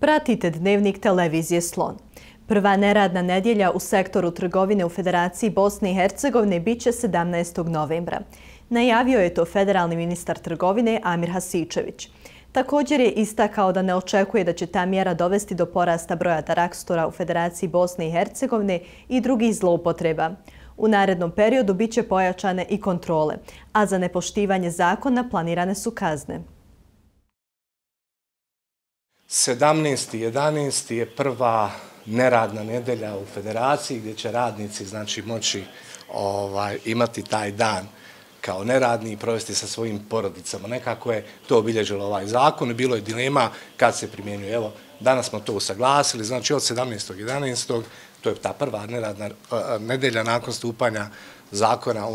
Pratite Dnevnik televizije Slon. Prva neradna nedjelja u sektoru trgovine u Federaciji Bosne i Hercegovine biće 17. novembra. Najavio je to federalni ministar trgovine Amir Hasičević. Također je istakao da ne očekuje da će ta mjera dovesti do porasta broja daraktora u Federaciji Bosne i Hercegovine i drugih zloupotreba. U narednom periodu biće pojačane i kontrole, a za nepoštivanje zakona planirane su kazne. 17.11. je prva neradna nedjelja u Federaciji gdje će radnici moći imati taj dan kao neradni i provesti sa svojim porodicama. Nekako je to obilježilo ovaj zakon i bilo je dilema kad se primjenjuje. Evo, danas smo to usaglasili, znači od 17.11. to je ta prva neradna nedjelja nakon stupanja zakona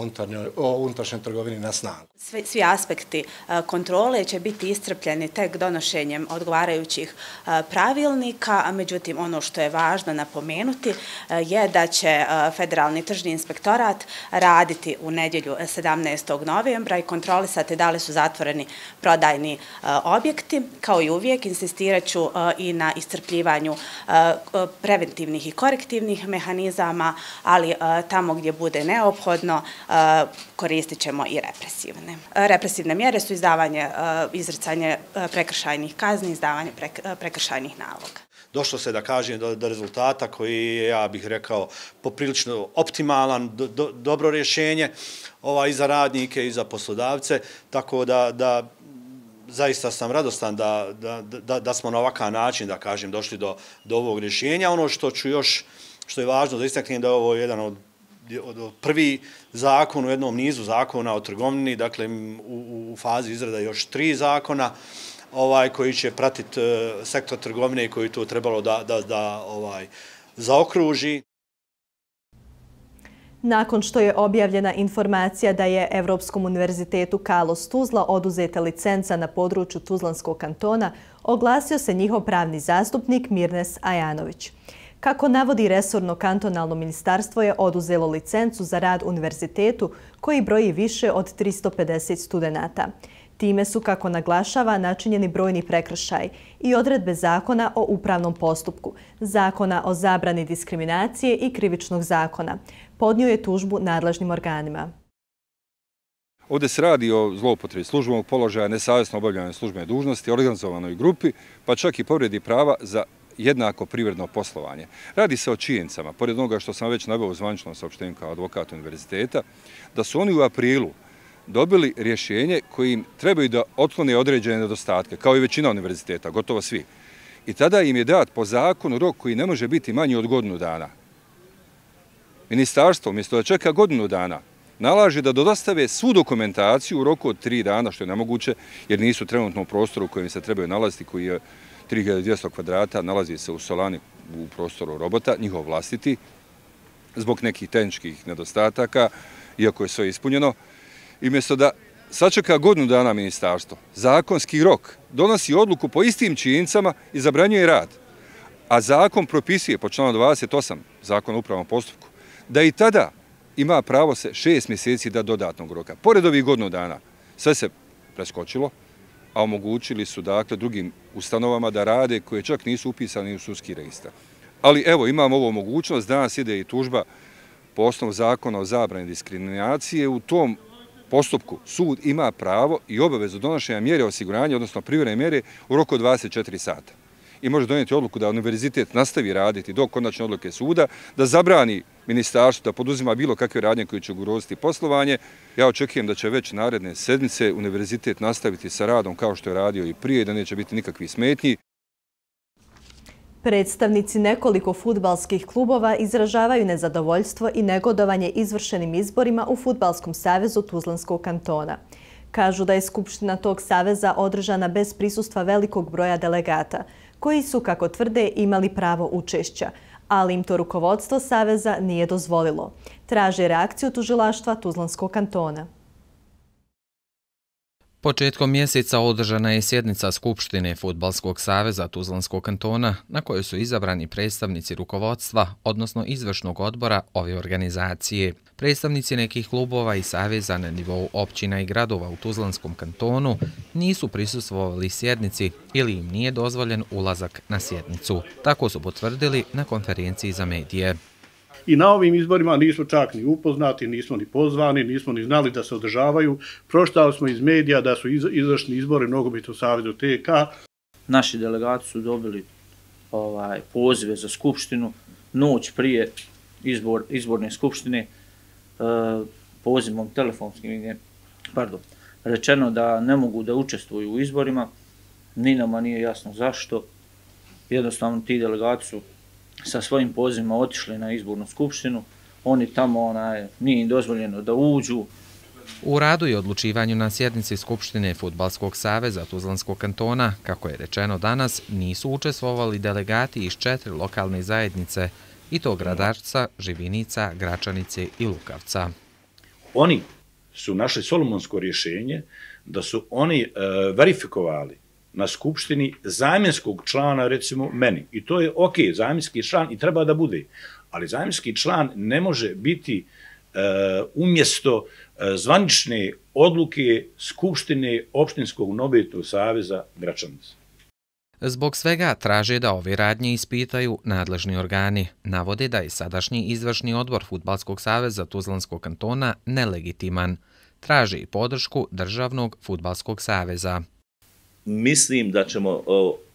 o unutrašnjoj trgovini na snagu. Svi aspekti kontrole će biti iscrpljeni tek donošenjem odgovarajućih pravilnika, a međutim ono što je važno napomenuti je da će Federalni tržni inspektorat raditi u nedjelju 17. novembra i kontrolisati da li su zatvoreni prodajni objekti. Kao i uvijek insistirat ću i na iscrpljivanju preventivnih i korektivnih mehanizama, ali tamo gdje bude neophodno koristit ćemo i represivne. Represivne mjere su izricanje prekršajnih kazni, izdavanje prekršajnih naloga. Došlo se, da kažem, do rezultata koji je, ja bih rekao, poprilično optimalan, dobro rješenje i za radnike i za poslodavce, tako da zaista sam radostan da smo na ovakav način, da kažem, došli do ovog rješenja. Ono što je važno da istaknem da je ovo jedan od prvi zakon u jednom nizu zakona o trgovini, dakle u fazi izrada još 3 zakona koji će pratiti sektor trgovine i koji to trebalo da zaokruži. Nakon što je objavljena informacija da je Evropskom univerzitetu Carlos Tuzla oduzeta licenca na području Tuzlanskog kantona, oglasio se njihov pravni zastupnik Mirnes Ajanović. Kako navodi resorno kantonalno ministarstvo je oduzelo licencu za rad univerzitetu koji broji više od 350 studenata. Time su, kako naglašava, načinjeni brojni prekršaji i odredbe zakona o upravnom postupku, zakona o zabrani diskriminacije i krivičnog zakona. Podnio je tužbu nadležnim organima. Ovdje se radi o zloupotrebi službenog položaja, nesavjesno obavljanje službene dužnosti, organizovanoj grupi, pa čak i povredi prava za jednako privredno poslovanje. Radi se o činjenicama, pored onoga što sam već naveo u zvaničnom saopštenju kao advokat univerziteta, da su oni u aprilu dobili rješenje kojim trebaju da otklone određene nedostatke, kao i većina univerziteta, gotovo svi. I tada im je dat po zakonu rok koji ne može biti manji od godinu dana. Ministarstvo, umjesto da čeka godinu dana, nalaže da dostave svu dokumentaciju u roku od 3 dana, što je nemoguće, jer nisu trenutno u prostoru u kojem se trebaju nalaziti, koji je 3200 kvadrata, nalazi se u Solani u prostoru Robota, njihov vlastiti, zbog nekih tehničkih nedostataka, iako je sve ispunjeno. I umjesto da sačeka godinu dana ministarstvo, zakonski rok, donosi odluku po istim činjenicama i zabranjuje rad. A zakon propisuje po članu 28 zakona o upravnom postupku da i tada ima pravo se 6 mjeseci da dodatnog roka. Pored ovih godinu dana sve se preskočilo, a omogućili su drugim ustanovama da rade koje čak nisu upisani u sudski registar. Ali evo, imamo ovu mogućnost, danas ide i tužba po osnovu zakona o zabrani diskriminacije. U tom postupku sud ima pravo i obavezu donošenja mjere osiguranja, odnosno privremene mjere, u roku od 24 sata. I može donijeti odluku da univerzitet nastavi raditi do konačne odluke suda, da zabrani ministarstvu da poduzima bilo kakve radnje koje će ugroziti poslovanje. Ja očekujem da će već naredne sedmice univerzitet nastaviti sa radom kao što je radio i prije, da neće biti nikakvih smetnji. Predstavnici nekoliko fudbalskih klubova izražavaju nezadovoljstvo i negodovanje izvršenim izborima u Fudbalskom savezu Tuzlanskog kantona. Kažu da je skupština tog saveza održana bez prisustva velikog broja delegata, koji su, kako tvrde, imali pravo učešća, ali im to rukovodstvo saveza nije dozvolilo. Traže reakciju tužilaštva Tuzlanskog kantona. Početkom mjeseca održana je sjednica Skupštine Fudbalskog saveza Tuzlanskog kantona na kojoj su izabrani predstavnici rukovodstva, odnosno izvršnog odbora ove organizacije. Predstavnici nekih klubova i saveza na nivou općina i gradova u Tuzlanskom kantonu nisu prisustvovali sjednici ili im nije dozvoljen ulazak na sjednicu. Tako su potvrdili na konferenciji za medije. I na ovim izborima nismo čak ni upoznati, nismo ni pozvani, nismo ni znali da se održavaju. Pročitali smo iz medija da su izvršni izbori Nogometnog saveza TK. Naši delegati su dobili pozive za skupštinu noć prije izborne skupštine, pozivom telefonskim, rečeno da ne mogu da učestvuju u izborima, ni nama nije jasno zašto. Jednostavno ti delegati su sa svojim pozivima otišli na izbornu skupštinu, oni tamo nije im dozvoljeno da uđu. U radu i odlučivanju na sjednici Skupštine Fudbalskog saveza Tuzlanskog kantona, kako je rečeno danas, nisu učestvovali delegati iz 4 lokalne zajednice, i to Gradarca, Živinica, Gračanice i Lukavca. Oni su našli solomonsko rješenje da su oni verifikovali na skupštini zamjenskog člana, recimo meni. I to je ok, zamjenski član i treba da bude. Ali zamjenski član ne može biti umjesto zvanične odluke Skupštine Opštinskog nogometnog saveza Gračanice. Zbog svega traže da ove radnje ispitaju nadležni organi. Navode da je sadašnji izvršni odbor Fudbalskog saveza Tuzlanskog kantona nelegitiman. Traže i podršku Državnog fudbalskog saveza. Mislim da ćemo,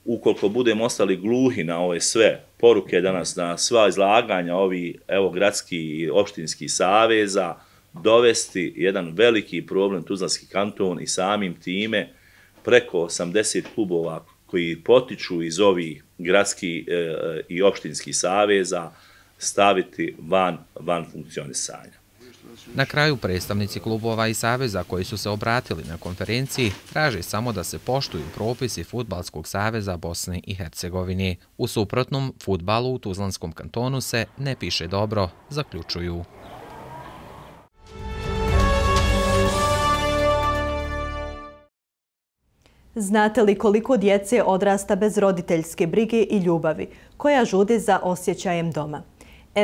ukoliko budemo ostali gluhi na ove sve poruke danas, na sva izlaganja ovih gradskih i opštinskih saveza, dovesti jedan veliki problem Tuzlanski kanton i samim time preko 80 klubova koji potiču iz ovih gradskih i opštinskih saveza staviti van funkcionisanja. Na kraju predstavnici klubova i saveza koji su se obratili na konferenciji traže samo da se poštuju propisi Fudbalskog saveza Bosne i Hercegovine. U suprotnom, fudbalu u Tuzlanskom kantonu se ne piše dobro, zaključuju. Znate li koliko djece odrasta bez roditeljske brige i ljubavi, koja žudi za osjećajem doma?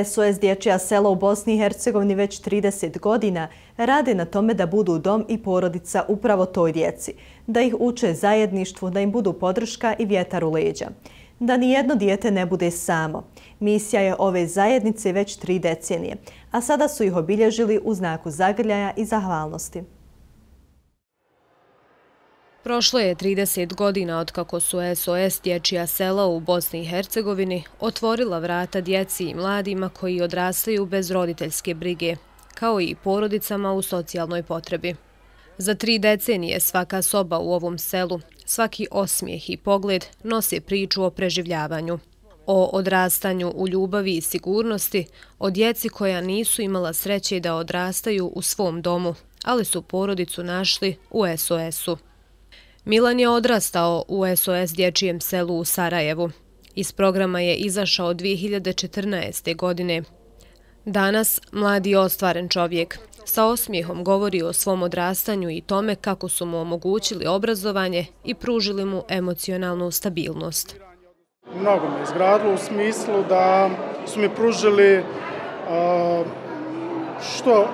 SOS Dječja sela u Bosni i Hercegovini već 30 godina rade na tome da budu dom i porodica upravo toj djeci, da ih uče zajedništvu, da im budu podrška i vjetar u leđa. Da nijedno dijete ne bude samo. Misija je ove zajednice već 3 decenije, a sada su ih obilježili u znaku zagrljaja i zahvalnosti. Prošlo je 30 godina otkako su SOS Dječja sela u Bosni i Hercegovini otvorila vrata djeci i mladima koji odrastaju bez roditeljske brige, kao i porodicama u socijalnoj potrebi. Za 3 decenije svaka soba u ovom selu, svaki osmijeh i pogled nosi priču o preživljavanju, o odrastanju u ljubavi i sigurnosti, o djeci koja nisu imala sreće da odrastaju u svom domu, ali su porodicu našli u SOS-u. Milan je odrastao u SOS Dječjem selu u Sarajevu. Iz programa je izašao 2014. godine. Danas mladi ostvaren čovjek sa osmijehom govori o svom odrastanju i tome kako su mu omogućili obrazovanje i pružili mu emocionalnu stabilnost. Mnogo me izgradilo u smislu da su mi pružili što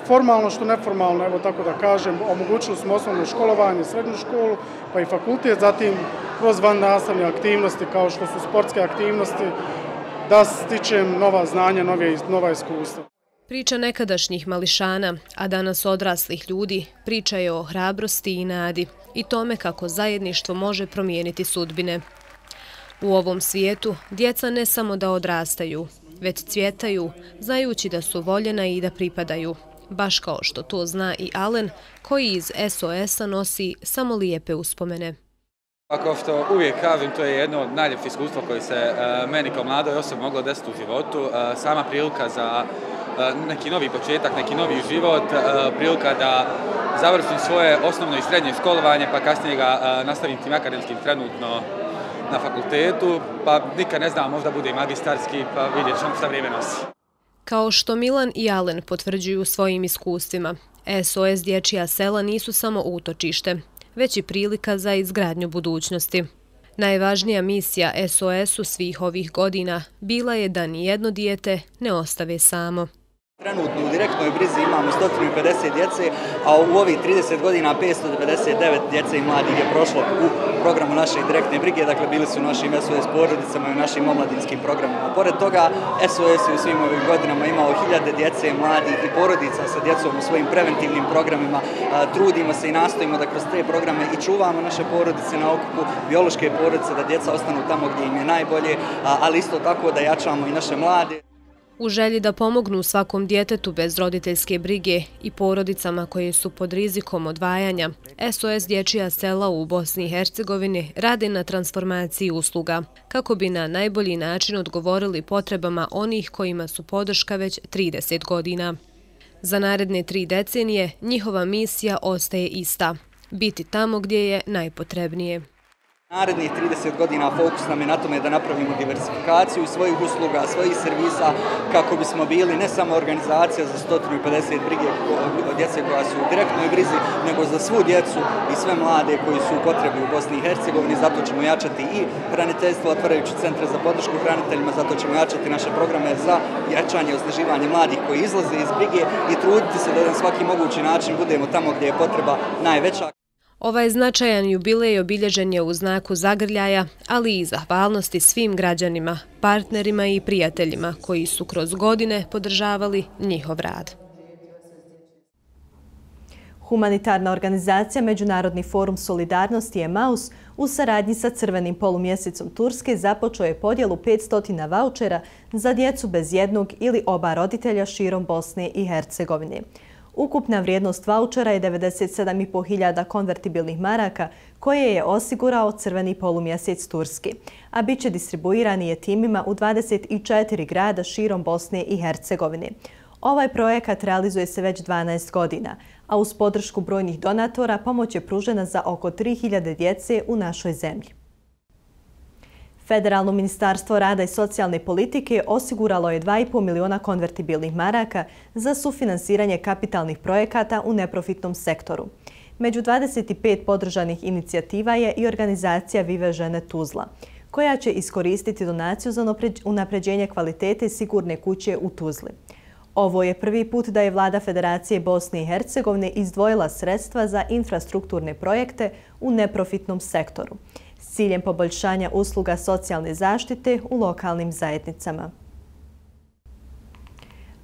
formalno, što neformalno, evo tako da kažem, omogućili smo osnovno školovanje, srednju školu, pa i fakultet, zatim kroz vannastavne aktivnosti kao što su sportske aktivnosti, da stičem nova znanja, nova iskustva. Priča nekadašnjih mališana, a danas odraslih ljudi, priča je o hrabrosti i nadi i tome kako zajedništvo može promijeniti sudbine. U ovom svijetu djeca ne samo da odrastaju, već cvjetaju, znajući da su voljena i da pripadaju. Baš kao što to zna i Alen, koji iz SOS-a nosi samo lijepe uspomene. Kao što uvijek kažem, to je jedno od najljepših iskustva koje se meni kao mladoj osobi moglo desiti u životu. Sama prilika za neki novi početak, neki novi život, prilika da završim svoje osnovno i srednje školovanje, pa kasnije ga nastavim tim akademskim trenutno na fakultetu, pa nikad ne znam, možda bude i magistarski, pa vidjet ćemo šta vrijeme nosi. Kao što Milan i Alen potvrđuju svojim iskustvima, SOS Dječja sela nisu samo utočište, već i prilika za izgradnju budućnosti. Najvažnija misija SOS-u svih ovih godina bila je da nijedno dijete ne ostave samo. Trenutno u direktnoj brizi imamo 150 djece, a u ovih 30 godina 599 djece i mladih je prošlo u programu naše direktne brige, dakle bili su u našim SOS porodicama i u našim omladinskim programima. Pored toga, SOS je u svim ovim godinama imao hiljade djece, mladih i porodica sa djecom u svojim preventivnim programima. Trudimo se i nastojimo da kroz te programe i čuvamo naše porodice na okupu, biološke porodice, da djeca ostanu tamo gdje im je najbolje, ali isto tako da jačamo i naše mlade. U želji da pomognu svakom djetetu bez roditeljske brige i porodicama koje su pod rizikom odvajanja, SOS Dječja sela u Bosni i Hercegovini radi na transformaciji usluga, kako bi na najbolji način odgovorili potrebama onih kojima su podrška već 30 godina. Za naredne 3 decenije njihova misija ostaje ista – biti tamo gdje je najpotrebnije. Narednih 30 godina fokus nam je na tome da napravimo diversifikaciju svojih usluga, svojih servisa, kako bismo bili ne samo organizacija za 150 brige djece koja su u direktnoj brizi, nego za svu djecu i sve mlade koji su u potrebi u Bosni i Hercegovini. Zato ćemo jačati i hraniteljstvo, otvarajući centre za podršku hraniteljima, zato ćemo jačati naše programe za jačanje i osnaživanje mladih koji izlaze iz brige i truditi se da na svaki mogući način budemo tamo gdje je potreba najveća. Ovaj značajan jubilej obilježen je u znaku zagrljaja, ali i zahvalnosti svim građanima, partnerima i prijateljima koji su kroz godine podržavali njihov rad. Humanitarna organizacija Međunarodni forum solidarnosti EMAUS u saradnji sa Crvenim polumjesecom Turske započeo je podjelu 500 vaučera za djecu bez jednog ili oba roditelja širom Bosne i Hercegovine. Ukupna vrijednost vaučera je 97.500 konvertibilnih maraka koje je osigurao Crveni polumjesec Turski, a bit će distribuirani je timima u 24 grada širom Bosne i Hercegovine. Ovaj projekat realizuje se već 12 godina, a uz podršku brojnih donatora pomoć je pružena za oko 3000 djece u našoj zemlji. Federalno ministarstvo rada i socijalne politike osiguralo je 2,5 miliona konvertibilnih maraka za sufinansiranje kapitalnih projekata u neprofitnom sektoru. Među 25 podržanih inicijativa je i organizacija Vive žene Tuzla, koja će iskoristiti donaciju za unapređenje kvalitete sigurne kuće u Tuzli. Ovo je prvi put da je Vlada Federacije Bosne i Hercegovine izdvojila sredstva za infrastrukturne projekte u neprofitnom sektoru s ciljem poboljšanja usluga socijalne zaštite u lokalnim zajednicama.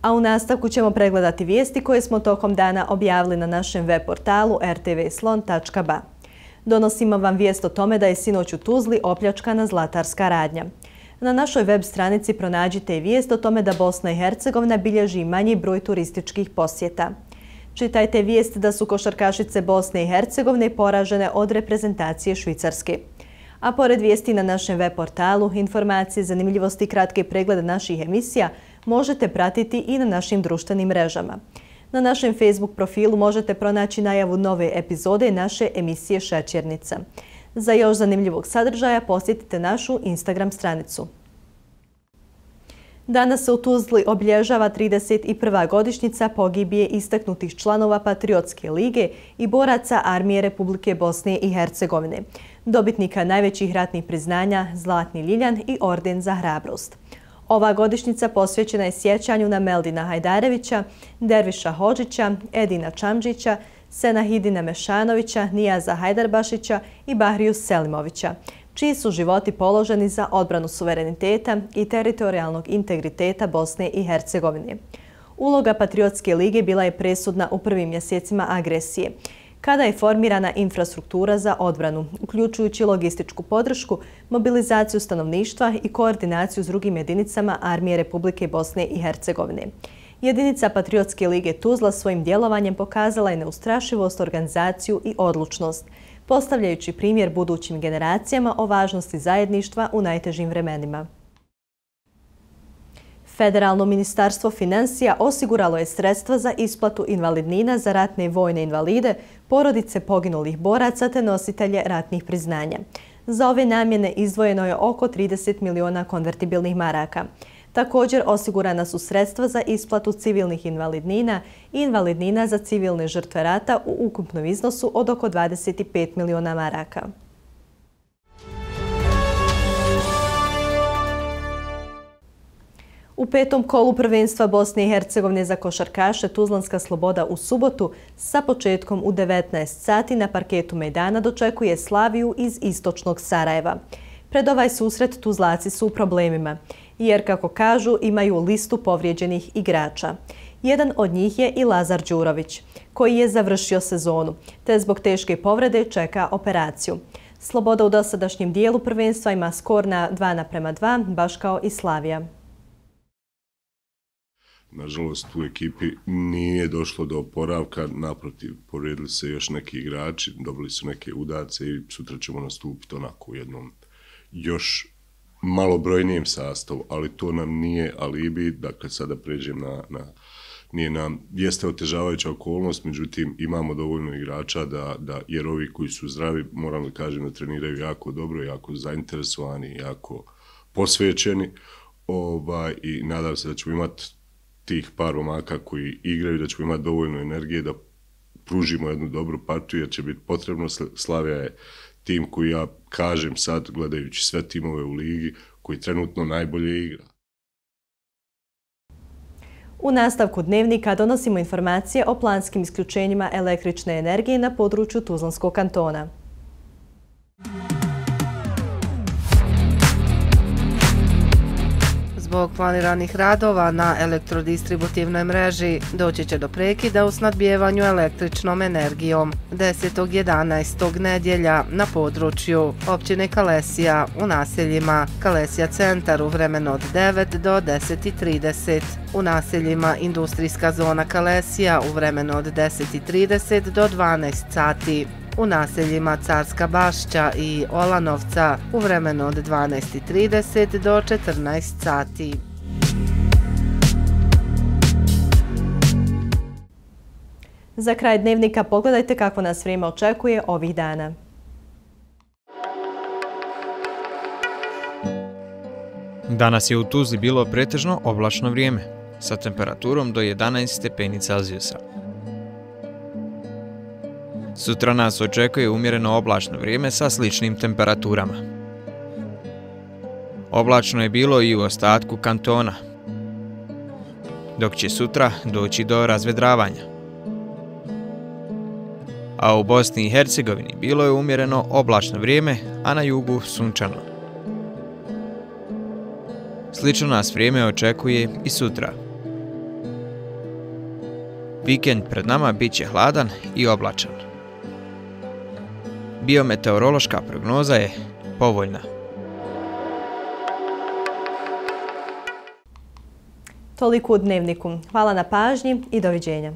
A u nastavku ćemo pregledati vijesti koje smo tokom dana objavili na našem web portalu rtvslon.ba. Donosimo vam vijest o tome da je sinoć u Tuzli opljačkana zlatarska radnja. Na našoj web stranici pronađite i vijest o tome da Bosna i Hercegovina bilježi manji broj turističkih posjeta. Čitajte vijest da su košarkašice Bosne i Hercegovine poražene od reprezentacije Švicarske. A pored vijesti na našem web portalu, informacije, zanimljivosti i kratke preglede naših emisija možete pratiti i na našim društvenim mrežama. Na našem Facebook profilu možete pronaći najavu nove epizode naše emisije Šećernica. Za još zanimljivog sadržaja posjetite našu Instagram stranicu. Danas se u Tuzli obilježava 31. godišnjica pogibije istaknutih članova Patriotske lige i boraca Armije Republike Bosne i Hercegovine, dobitnika najvećih ratnih priznanja Zlatni Ljiljan i Orden za hrabrost. Ova godišnjica posvećena je sjećanju na Meldina Hajdarevića, Derviša Hodžića, Edina Čamđića, Senahidina Mešanovića, Nijaza Hajdarbašića i Bahriju Selimovića, čiji su životi položeni za odbranu suvereniteta i teritorijalnog integriteta Bosne i Hercegovine. Uloga Patriotske lige bila je presudna u prvim mjesecima agresije, kada je formirana infrastruktura za odbranu, uključujući logističku podršku, mobilizaciju stanovništva i koordinaciju s drugim jedinicama Armije Republike Bosne i Hercegovine. Jedinica Patriotske lige Tuzla svojim djelovanjem pokazala je neustrašivost, organizaciju i odlučnost, postavljajući primjer budućim generacijama o važnosti zajedništva u najtežim vremenima. Federalno ministarstvo financija osiguralo je sredstva za isplatu invalidnina za ratne i vojne invalide, porodice poginulih boraca te nositelje ratnih priznanja. Za ove namjene izdvojeno je oko 30 miliona konvertibilnih maraka. Također osigurana su sredstva za isplatu civilnih invalidnina i invalidnina za civilne žrtve rata u ukupnom iznosu od oko 25 miliona maraka. U petom kolu prvenstva Bosne i Hercegovine za košarkaše Tuzlanska Sloboda u subotu sa početkom u 19 sati na parketu Mejdana dočekuje Slaviju iz istočnog Sarajeva. Pred ovaj susret Tuzlaci su u problemima, jer, kako kažu, imaju listu povrijeđenih igrača. Jedan od njih je i Lazar Đurović, koji je završio sezonu, te zbog teške povrede čeka operaciju. Sloboda u dosadašnjem dijelu prvenstva ima skor na 2:2, baš kao i Slavija. Nažalost, u ekipi nije došlo do oporavka, naprotiv, povrijedili se još neki igrači, dobili su neke udarce i sutra ćemo nastupiti onako u jednom još malobrojnijem sastavu, ali to nam nije alibi, dakle sada pređem nije nam, jeste otežavajuća okolnost, međutim imamo dovoljno igrača jer ovi koji su zdravi, moram da kažem da treniraju jako dobro, jako zainteresovani, jako posvećeni i nadam se da ćemo imati tih par momaka koji igraju, da ćemo imati dovoljno energije da pružimo jednu dobru partiju, jer će biti potrebno. Slavija je tim koji, ja kažem sad, gledajući sve timove u ligi, koji trenutno najbolje igra. U nastavku dnevnika donosimo informacije o planskim isključenjima električne energije na području Tuzlanskog kantona. Zbog planiranih radova na elektrodistributivnoj mreži doći će do prekida u snabdijevanju električnom energijom 10.11. nedjelja na području općine Kalesija u naseljima Kalesija centar u vremenu od 9 do 10:30, u naseljima Industrijska zona Kalesija u vremenu od 10:30 do 12 sati. U naseljima Carska Bašća i Olanovca u vremenu od 12:30 do 14 sati. Za kraj dnevnika pogledajte kako nas vrijeme očekuje ovih dana. Danas je u Tuzli bilo pretežno oblačno vrijeme, sa temperaturom do 11 stepeni Celzijusa. Sutra nas očekuje umjereno oblačno vrijeme sa sličnim temperaturama. Oblačno je bilo i u ostatku kantona, dok će sutra doći do razvedravanja. A u Bosni i Hercegovini bilo je umjereno oblačno vrijeme, a na jugu sunčano. Slično nas vrijeme očekuje i sutra. Vikend pred nama bit će hladan i oblačan. Biometeorološka prognoza je povoljna. Toliko u dnevniku. Hvala na pažnji i doviđenja.